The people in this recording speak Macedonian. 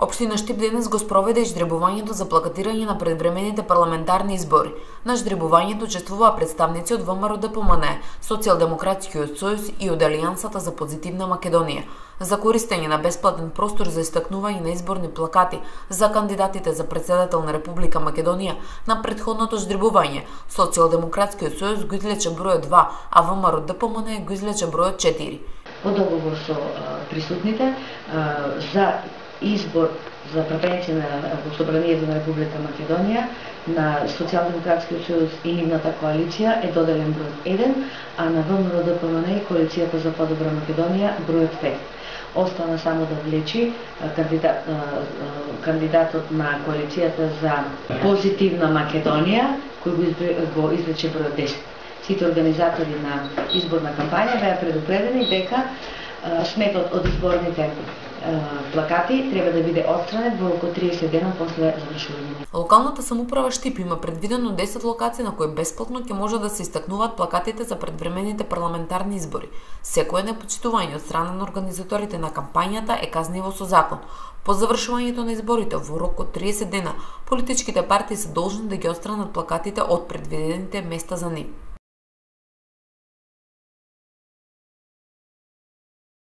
Општина Штип денес го спроведе ждребувањето за плакатирање на предвремените парламентарни избори. На ждребувањето учествуваа представници од ВМРО-ДПМН, Социјалдемократскиот сојуз и од Алијансата за позитивна Македонија. За користење на бесплатен простор за истакнување на изборни плакати за кандидатите за председател на Република Македонија на претходното ждребување, Социјалдемократскиот сојуз го излече бројот 2, а ВМРО-ДПМН го излече бројот 4. По договор со присутните за избор за претенција на Собранието на Република Македонија на Социјалдемократскиот сојуз и нивната коалиција е доделен бројот 1, а на ВМРО-ДПМН и коалицијата за подобра Македонија бројот 5. Остана само да влечи кандидатот на коалицијата за позитивна Македонија, кој го извлече бројот 10. Сите организатори на изборна кампања беа предупредени дека сметот од изборните плакати треба да биде отстранет во околу 30 дена после завршување. Локалната самоуправа Штип има предвидено 10 локации на кои бесплатно ќе може да се истакнуваат плакатите за предвремените парламентарни избори. Секое непочитување од страна на организаторите на кампањата е казниво со закон. По завршувањето на изборите во рок од 30 дена, политичките партии се должни да ги отстранат плакатите од предвидените места за нив.